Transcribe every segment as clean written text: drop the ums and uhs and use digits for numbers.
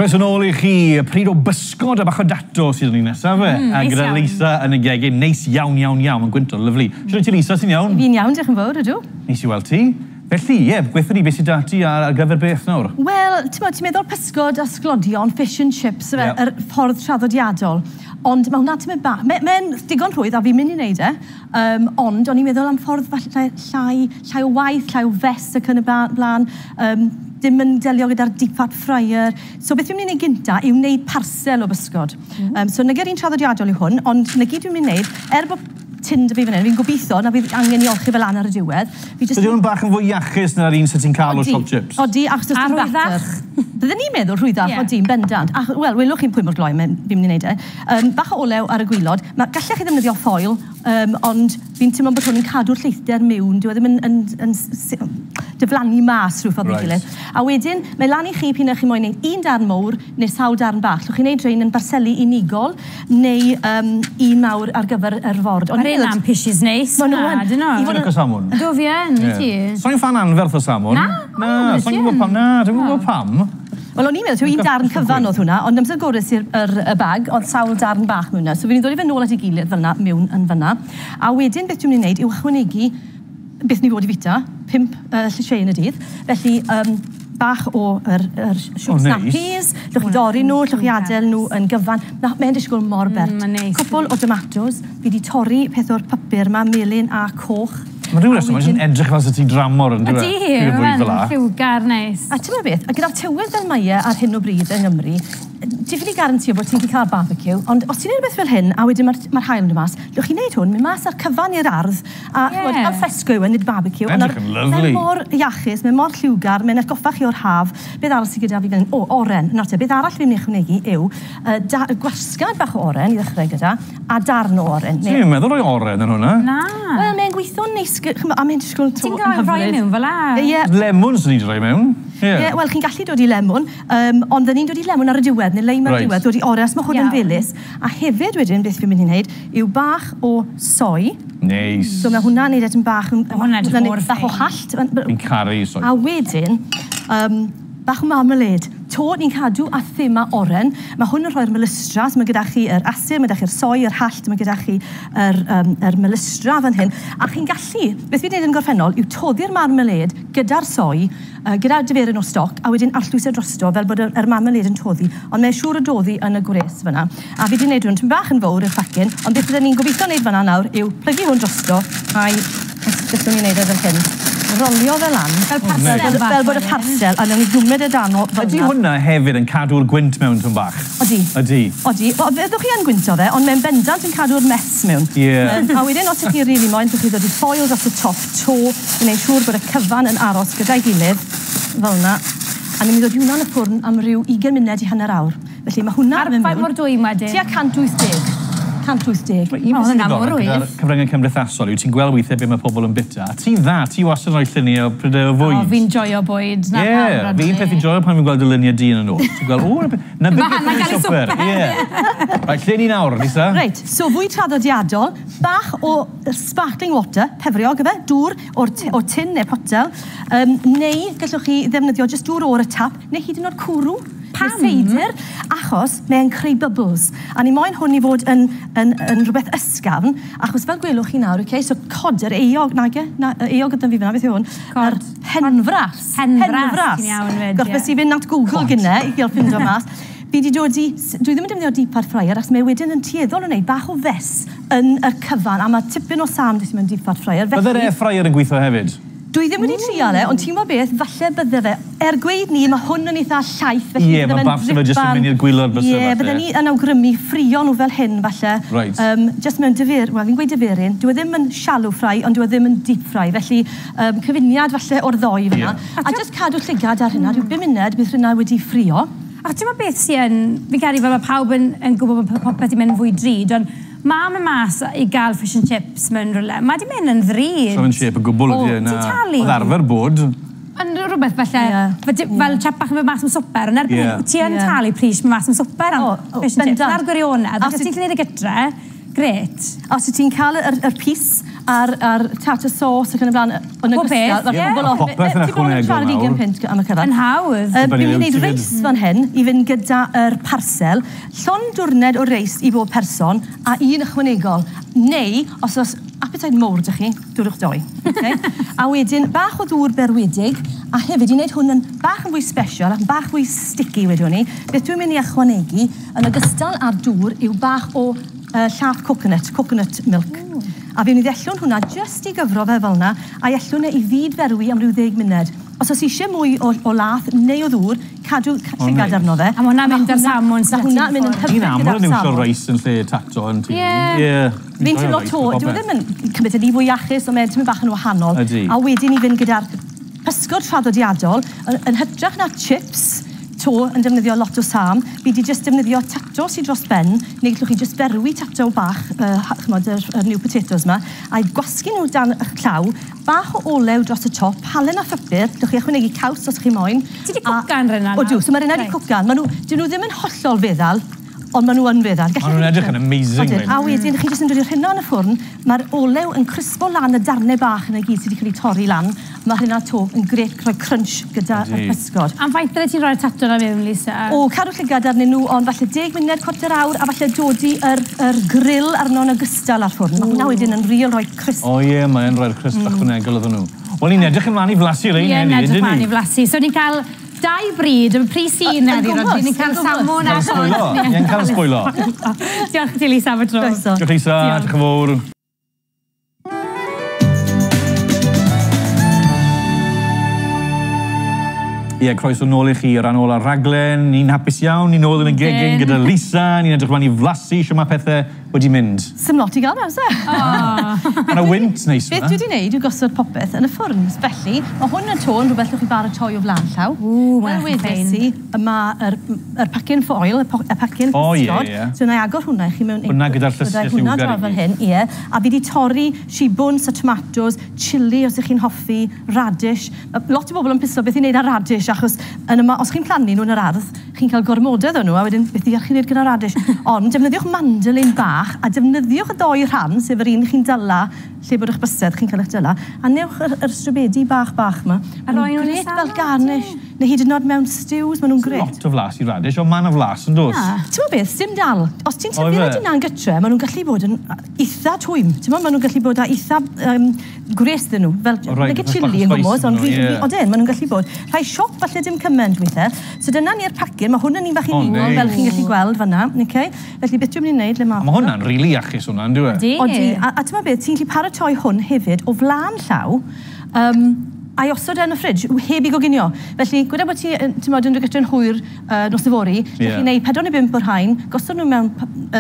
Croeso nôl i chi, pryd o bysgod a bach o dato sydd yn ni nesaf fe. A Neis gyda iawn. Lisa yn y gegin, neis iawn, iawn, iawn. Mae'n gwynto, lyfli. Shwt wyt ti, Lisa, ti'n iawn? Fi'n iawn, diolch yn fawr, ydw. Neis i weld ti. Felly, ie, gweithio ni beth sydd 'da ti ar gyfer beth nawr? Wel, ti'n meddwl pysgod a sglodion, fish and chips, yeah, yr ffordd traddodiadol. Ond mae hwnna ti'n bach. Mae'n digon rhwydd a fi'n mynd i wneud e. Ond o'n i'n meddwl am ffordd falle llai o waith, llai o fes ac yn y blaen. Dim yn delio gyda'r deep fat fryer. So beth fi'n mynd i wneud gynta yw wneud parsel o bysgod. So nagy'r un traddodiadol yw hwn, ond na gyd dwi'n mynd i wneud, er bod tin 'da fi fan hyn, fi'n gobeithio na fydd angen i olchi fel lan ar y diwedd. Fi jyst... Ydy hwn bach yn fwy iachus na'r un sydd ti'n cael o siop chips? Odi, achos does dim batter. Bydden ni'n meddwl rhwyddach, yeah, odi, yn bendant. Ach, wel, welwch chi'n pwy mor gloi fi'n mynd i wneud e. Bach o olew ar y gwylod. Gallech chi ddefnyddio foil, ond fi'n teimlo bod hwn yn cadw'r lleithder mewn. Dyw e ddim yn diflannu mas rhyw ffordd neu gilydd. A wedyn, mae lan i chi p'un chi moyn wneud un darn mowr neu sawl darn bach. Llwch chi wneud rhain yn barseli unigol neu un mawr ar gyfer yr ford. Mae'r un am pishes neis. Ma' nhw yn. Dyn nhw? Ti'n licio salmon? Ydw, fi yn, i ti? So'n fan anferth o salmon. Na? Na, so'n gwybod pam. Na, dwi'n gwybod pam. Wel, o'n i'n meddwl, un darn cyfan oedd hwnna, ond amser gores i'r y bag, oedd sawl darn bach mewn yna. So fi'n dod i fe nôl at ei gilydd fel yna, mewn yn fyna. A wedyn beth dwi'n mynd i wneud yw ychwanegu beth ni fod i fita, 5 llysieuyn y dydd. Felly, bach o yr snap peas, llwch chi dorri nhw, llwch chi adael nhw yn gyfan. Mae'n disgwyl mor bert. Cwpl o tomatoes, fi wedi torri peth o'r papur yma, melyn a coch. Mae rhyw reswm, mae'n edrych fel sy'n ti'n dramor yn dweud. Ydy, mae'n lliwgar neis. A ti'n meddwl beth, a gyda'r tywydd fel mae e ar hyn o bryd yng Nghymru, ti'n ffili garantio bod ti'n cael barbecue, ond os ti'n neud rhywbeth fel hyn, a wedyn mae'r haul yn dod mas, llwch chi'n neud hwn, mynd mas ar cyfan i'r ardd, a al fresco yw e, nid barbecue. Edrych yn lyfli. Mae'n mor iachus, mae'n mor lliwgar, mae'n atgoffa chi o'r haf. Beth arall sydd gyda fi fan hyn? O, oren. Nawr te, beth arall fi'n mynd i ychwanegu yw gwasgad bach o oren i ddechrau gyda, a darn o oren. Ti'n meddwl rhoi oren yn hwnna? Na. Wel, mae'n gweithio'n neis, a mae'n disgwyl to Ti'n gael rhoi mewn fel la? Ie. Lemon sy'n ni'n rhoi mewn. Ie, wel, chi'n gallu dod i lemon, ond dyn ni'n dod i lemon ar y diwedd, neu leim ar y diwedd, dod i oren, os mae hwn yn felys. A hefyd wedyn, beth fi'n mynd i wneud, yw bach o soi. Neis. So mae hwnna'n neud edrych bach yn... Hwnna'n edrych mor bach o hallt. Fi'n caru soi. A wedyn, bach o marmalade. To, ni'n cadw a thema oren. Mae hwn yn rhoi'r melystra, so mae gyda chi yr asur, mae gyda chi'r soi, yr hallt, mae gyda chi yr melystra fan hyn. A chi'n gallu, beth fi'n gwneud yn gorffennol, yw toddi'r marmalade gyda'r soi, gyda diferyn o stoc, a wedyn arllwys e drosto, fel bod yr marmalade yn toddi. Ond mae'n siŵr o doddi yn y gwres fyna. A fi wedi gwneud hwn, tipyn bach yn fawr i'r ffacin, ond beth byddwn ni'n gobeithio wneud fyna nawr yw plygu hwn drosto, a'i, beth ni'n gwneud e fel hyn. Rolio fel lan, fel parsel, fel bod y parsel, a newn ni gwmyd e dan o fel Ydy hwnna hefyd yn cadw'r gwynt mewn tyn bach? Odi. Ydy. Odi. Wel, fyddwch chi yn gwynto fe, ond mae'n bendant yn cadw'r mess mewn. Ie. A wedyn, os ydych chi'n rili moyn, ddwch chi ddod i ffoil dros y top to, i wneud siŵr bod y cyfan yn aros gyda'i gilydd, fel yna. A ni'n mynd i ddod i hwnna yn y ffwrn am ryw 20 munud i hanner awr. Felly mae hwnna yn mynd mewn. Ar mor dwym wedyn? Tua 180. 180. Mae un peth sy'n ddiddorol gyda'r cyfryngau cymdeithasol yw ti'n gweld weithiau beth mae pobl yn bita. A ti'n dda, ti wastad yn rhoi lluniau o prydau o fwyd. O, fi'n joio bwyd. Ie, fi'n peth fi'n joio pan fi'n gweld y luniau di yn y nôl. Ti'n gweld, o, na beth beth yn swper. Ie. Reit, lle ni nawr, Lisa? Reit, so fwyd traddodiadol, bach o sparkling water, pefriog yfe, dŵr o'r tin neu potel, neu gallwch chi ddefnyddio jyst dŵr o'r y tap, neu hyd yn oed cwrw. Pam? Seidr, achos mae'n creu bubbles. A ni moyn hwn i fod yn rhywbeth ysgafn, achos fel gwelwch chi nawr, okay, so cod yr eog, nage? Na, eog gyda fi fyna, beth yw hwn? Cod. Henfras. Henfras. Ti'n iawn fyd, ie. Gorffes i fynd at Google gynne i gael ffindo mas. Fi wedi dod i... Dwi ddim yn defnyddio deep fat fryer, achos mae wedyn yn tueddol o wneud bach o fes yn y cyfan, a mae tipyn o sam jyst mewn deep fat fryer. Bydde'r air fryer yn gweithio hefyd? Dwi ddim wedi trial e, ond ti'n gwybod beth, falle bydde fe. Er gweud ni, mae hwn yn eitha llaith, felly Ie, bydde mae fe'n bafse fe jyst yn dripan. mynd i'r gwylod byse Ie, falle. bydden ni yn awgrymu ffrio nhw fel hyn, falle. Reit. Just mewn dyfir, wel, fi'n gweud dyferyn, dyw e ddim yn shallow fry, ond dyw e ddim yn deep fry, felly cyfuniad falle o'r ddoi fyna. A just cadw llygad ar hynna, rhyw 5 munud, bydd hynna wedi ffrio. A ti'n gwybod beth sy'n, fi'n credu fel mae pawb yn gwybod bod popeth yn mynd fwy drud, ond mae mynd mas i gael fish and chips mewn rhywle. Mae di mynd yn ddrud. So fe'n shape o gwbl ydi e, na. Ti'n talu? Oedd arfer bod. Ond rhywbeth falle, fel chap bach yn mynd mas am swper, ond erbyn hyn, ti yn talu pris mynd mas am swper am fish and chips. Na'r gwirionedd, os ti'n gwneud y gytre, grêt. Os ti'n cael yr pys a'r tartar sauce ac yn y blaen yn ogystal. Mae popeth yn ychwanegol nawr. £20 am y cyfan. Yn hawdd. Fi'n mynd i wneud reis fan hyn i fynd gyda'r parsel. Llond dwrned o reis i bob person a un ychwanegol. Neu, os oes appetite mowr 'da chi, dwrwch doi. Okay? A wedyn, bach o ddŵr berwedig, a hefyd i wneud hwn yn bach yn fwy special ac yn bach fwy sticky wedwn ni, beth dwi'n mynd i ychwanegu, yn ogystal â'r dŵr, yw bach o llath coconut, coconut milk. A fi'n mynd i ddellwn hwnna jyst i gyfro fe fel yna, a ellwn e i fyd ferwi am ryw 10 munud. Os oes eisiau mwy o lath neu o ddŵr, cadw llygad arno fe. A mae hwnna'n mynd ar salmon. Mae hwnna'n mynd yn hyfryd Ni'n aml gyda'r yn iwsio salmon. reis yn lle tato yn tŷ. Ie. Fi'n teimlo to, dyw e ddim yn cymryd yn fwy iachus, ond mae'n tymor bach yn wahanol. Ydi. A wedyn i fynd gyda'r pysgod traddodiadol, yn hytrach na chips, to yn defnyddio lot o sam, fi di just defnyddio tato sydd dros ben, neu gallwch chi just berwi tato bach, ch'mod, yr new potatoes ma, a gwasgu nhw dan eich llaw, bach o olew dros y top, halen a phupur, gallwch chi ychwanegu caws os chi moyn. Ti 'di cwcan rheina Odw, nawr? so mae rheina 'di cwcan. Dyn nhw ddim yn hollol feddal, ond maen nhw yn feddal. Maen nhw'n edrych yn amazing, Odyn, rhein. a wedyn chi jyst yn dod i'r rheina yn y ffwrn, mae'r olew yn crispo lan y darnau bach yna gyd sydd wedi cael eu torri lan. Mae hynna to yn grêt rhoi crunch gyda y pysgod. Am faint bydde ti'n rhoi'r tato na mewn, Lisa? O, cadw llygad arnyn nhw, ond falle 10 munud, chwarter awr, a falle dodi yr grill arno yn ogystal â'r ffwrn. Mae hwnna wedyn yn real rhoi crisp. O ie, mae'n rhoi'r crisp ychwanegol iddyn nhw. Wel, ni'n edrych ymlaen i flasu rhein Ie, heddi, edrych ydyn ymlaen ni? i flasu. So ni'n cael dau bryd, y pris un heddi, Rodri. Ni'n cael salmon a Cael sbwylo. Ie, cael sbwylo. Diolch i ti, Lisa, am y tro. Croeso. Diolch, Lisa. Diolch. Diolch yn fawr. Ie, croeso nôl i chi o ran ôl ar raglen. Ni'n hapus iawn, ni'n nôl yn y gegin gyda Lisa, ni'n edrych ymlaen i flasu, shwt mae pethau wedi mynd. Sim lot i gael mewn, se? Mae yna wynt neis Beth yma. dwi wedi gwneud yw gosod popeth yn y ffwrn. Felly, mae hwn yn tôn rhywbeth llwch chi baratoi o flaen llaw. Ww, mae'n Fel edrych wedes yn i, mae'r pacyn foil, y pacyn O, ie, pysgod. ie. So, na i agor hwnna i chi mewn... Hwnna gyda'r llysiau Byddai hwnna lliwgar i draw fel gyd. hyn, ie. A fi wedi torri shibwns a tomatoes, chilli os ych chi'n hoffi, radish. Ma' lot o bobl yn piso beth i wneud ar radish, achos yn yma, os chi'n plannu nhw yn yr ardd, chi'n cael gormodedd o nhw, a wedyn beth i chi'n wneud gyda radish. Ond defnyddiwch mandolin bach, a defnyddiwch y ddoi rhan, sef yr un chi'n dyla, lle bod eich bysedd chi'n cael eich dyla, a newch yr strobedi bach bach yma. A roi nhw yn y Grêt fel salad, garnish, neu hyd yn oed mewn stews, maen nhw'n grêt. Lot o flas i radish, ond mae yna flas yn dos. Ti'n gwybod beth, dim dal. Os ti'n O, tyfu ife? rhaid yna'n gytre, maen nhw'n gallu bod yn eitha twym. Ti'n gwybod, maen nhw'n gallu bod â eitha gwres iddyn nhw. Fel, O, reit, nage bach o chilli yn spice gwmws, ond ynddyn nhw, ie. odyn, maen nhw'n gallu bod. Rhai siop falle dim cymaint weithiau. So dyna ni'r pacyn, mae hwn yn un bach O, unigol, neis. fel chi'n gallu gweld fanna. Okay? Felly beth dwi'n mynd i wneud, le ma... A mae hwnna'n rili iachus hwnna, yn dyw e? Ydi. Odi, a ti'n beth, ti'n gallu paratoi hwn hefyd o flaen llaw, a'i osod e yn y ffridge, heb i goginio. Felly, gweda bod ti, ti'n modd, yn dod gyda'n hwyr nos yfory, yeah. Chi'n gwneud 4 neu 5 o'r rhain, gosod nhw mewn,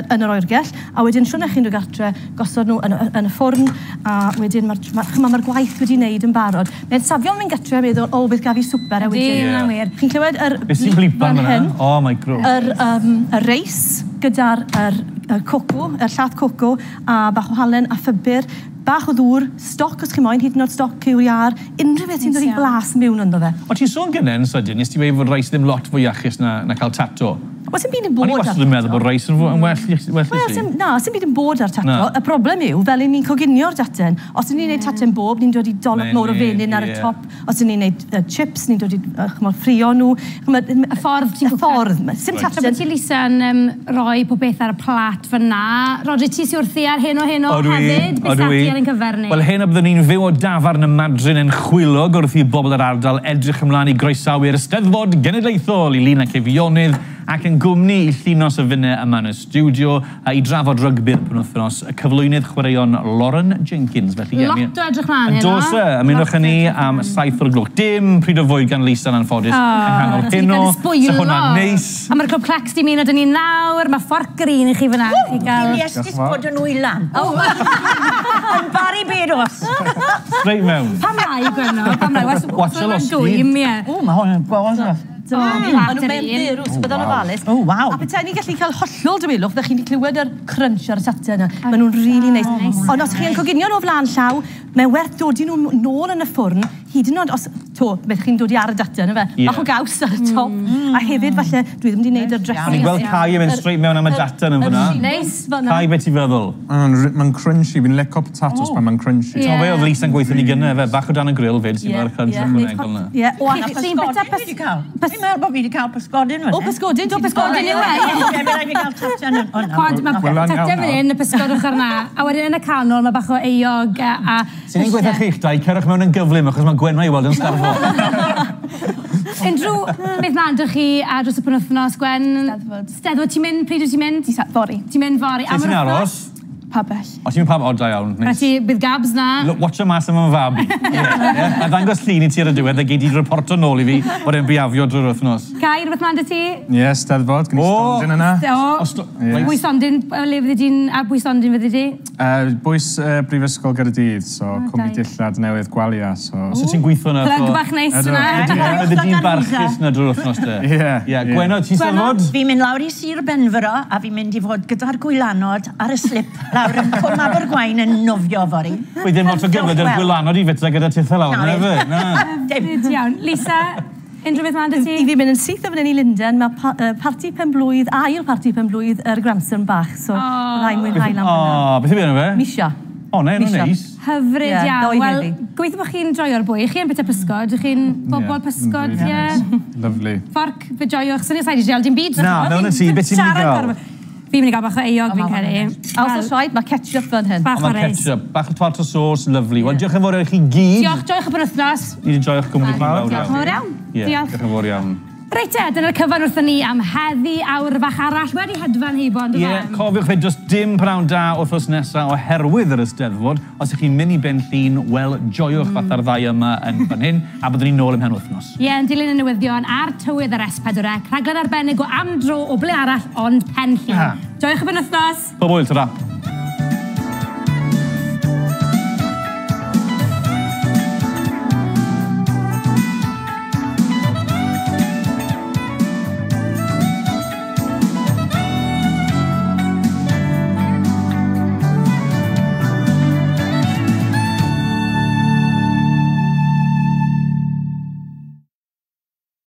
yn yr oergell, a wedyn siwrna chi'n dod gartre, gosod nhw yn y ffwrn, a wedyn mae'r ma, ma, ma gwaith wedi wneud yn barod. Mae'n safiol mynd gartre a meddwl, o, beth gaf i swper, a Ydi, wedyn... hwnna'n wir. Chi'n clywed yr Beth sy'n blip blipan fan fan'na? hyn? O, micro. Yr reis gyda'r yr coco, yr llath coco, a bach o halen a phupur, bach o ddŵr, stoc os chi moyn, hyd yn oed stoc cyw iâr, unrhyw beth sy'n dod i Neis iawn. blas mewn ynddo fe. O, ti'n sôn gynnau yn sydyn, nes ti weud fod reis ddim lot fwy iachus na cael tato. Wel, sy'n byd yn O'n bod i wastad yn meddwl bod reis yn well i Wel, ti. na, sy'm byd yn bod ar tato. Na. Y broblem yw, fel i ni'n coginio'r daten, os ydyn ni'n neud taten bob, ni'n dod i dolop mowr o Menyn, fenyn ar y top. Os ydyn ni'n neud chips, ni'n dod i ch'mod, ffrio nhw. Ch'mod, Y ffordd ti'n Y ffordd. Sim Tra taten. bod ti, Lisa, yn rhoi pob beth ar y plat fyna. Rodri, ti sy wrthi ar hyn o hyn o Odw i, hefyd? Beth odw i. ti ar ein cyfer ni? Wel, hyn o byddwn ni'n fyw o dafarn y Madryn yn chwilog wrth i bobl yr ardal edrych ymlaen i groesawu'r Eisteddfod Genedlaethol i Lyn ac Eifionydd ac yn gwmni i Llinos a finne yma yn y stiwdio a i drafod rygbi'r penwythnos, y cyflwynydd chwaraeon Lauren Jenkins. Felly, ie, Lot o edrych mlaen Yn heno. dos e, ymunwch â ni am 7 o'r gloch. Dim pryd o fwyd gan Lisa yn anffodus. Yng nghanol Ti 'di heno. cael sbwylo. So hwnna'n neis. A mae'r Clwb Clecs di ymuno 'da ni nawr. Mae fforc yr un i chi fyna. Chi gael... Iestis bod yn wylan. Yn bari bedos. Straight mewn. Pam rai, Gwenno? Pam rai? Watch a losgi. Dwym, ie. O, mae hwn yn gweld. O, Maen plat nhw'n yr mewn un. dderw, so byddwn ofalus. Oh, waw. A petai ni'n gallu cael hollol dawelwch, ddech chi'n clywed yr crunch ar y taten yna. Maen nhw'n really nice. Nice. Ond os chi'n coginio nhw o flaen llaw, mae'n werth dodi nhw nôl yn y ffwrn, hyd yn oed os, to, To, beth chi'n dod i ar y data, yna fe? Bach o gaws ar y top. A hefyd, falle, dwi ddim wedi gwneud yr dressing. O'n i'n gweld Kai yn mynd straight mewn am y data yn fyna. Neis. Kai, beth ti'n feddwl? Mae'n crunchy, fi'n licio potatoes pan mae'n crunchy. Ti'n fe, oedd Lisa'n gweithio ni gynne, fe, bach o dan y grill fyd, sy'n mae'r crunch ychwanegol yna. Ie. O, a pysgodyn fi wedi cael. Fi'n meddwl bod fi wedi cael pysgodyn. O, pysgodyn, do, pysgodyn yw e. Ie, fe raid fi gael taten yn... Cod, mae taten fan hyn, y pysgod ochr na. A wedyn yn y canol, mae bach o eog a... Sy'n ni'n gweithio chi'ch dau, cerwch mewn yn gyflym, achos mae Gwenno i weld yn starfo. Unrhyw beth mlaen dych chi a dros y penwythnos, Gwen? Steddfod. Steddfod, ti'n mynd? Pryd wyt ti'n mynd? Fory. Ti'n mynd fory. Lle ti'n aros? Pabell. O, ti'n mynd pabell? O, da iawn. Na ti, bydd Gabs na. Watch o mas am fy fab i. A ddangos llun i ti ar y diwedd a gei di reporto nôl i fi bod e'n biafio drwy'r wythnos. Kai, rhywbeth mlaen dy ti? Ie, Steddfod, gen i stondin yna. O, bwy stondin, le fyddi di'n, a bwy stondin fyddi di? Bwys Brifysgol Gaerdydd, so cwmni dillad newydd Gwalia, so... So ti'n gweithio yna? Plug bach neis yna. Fyddi di'n barchus yna drwy'r wythnos de. Ie. Gwenno, ti'n Steddfod? Fi'n mynd lawr i Sir Benfro a fi'n mynd i fod gyda'r gwylanod ar y slip lawr yn Cwm Abergwaun yn nofio fory. Wy ddim lot o gyfle dy'r gwylanod i fita gyda titha lawr, na fe? Na. Dim. Iawn. Lisa, unrhyw beth mlaen dy ti? I fi mynd yn syth o fan hyn i Lundain, mae parti penblwydd, ail parti penblwydd yr grandson bach, so byddai'n mwynhau lan fyna. O, beth yw enw fe? Misha. O, ne, nhw'n neis. Hyfryd iawn. Wel, gobeithio bod chi'n joio'r bwy. Chi yn bita pysgod, chi'n bobl pysgod, ie? Lovely. Fforc, fe joiwch. Sy'n ni'n said i dim byd. Na, mewn y tŷ, beth ti'n mynd i gael? Fi'n mynd i gael bach o eog, fi'n credu. A os oes rhaid, mae ketchup fan hyn. Bach o reis. Ketchup, bach o tomato sauce, lovely. Wel, diolch yn fawr i chi gyd. Diolch, joiwch y penwythnos. Ni wedi joio'ch gwmni chi'n fawr iawn. Diolch yn fawr iawn. Diolch. Diolch yn fawr iawn. Reit te, dyna'r cyfan wrthon ni am heddi awr fach arall wedi hedfan heibo, on'd yfe? Ie, cofiwch fe, does dim pnawn da wythnos nesaf oherwydd yr Eisteddfod. Os ych chi'n mynd i Ben Llŷn, wel, joiwch fatha'r ddau yma yn fan hyn, a byddwn ni'n nôl ymhen wythnos. Ie, yn dilyn y newyddion a'r tywydd ar S4C, rhaglen arbennig o am dro o ble arall ond Pen Llŷn. Joiwch y penwythnos. Pob hwyl, ta-ra.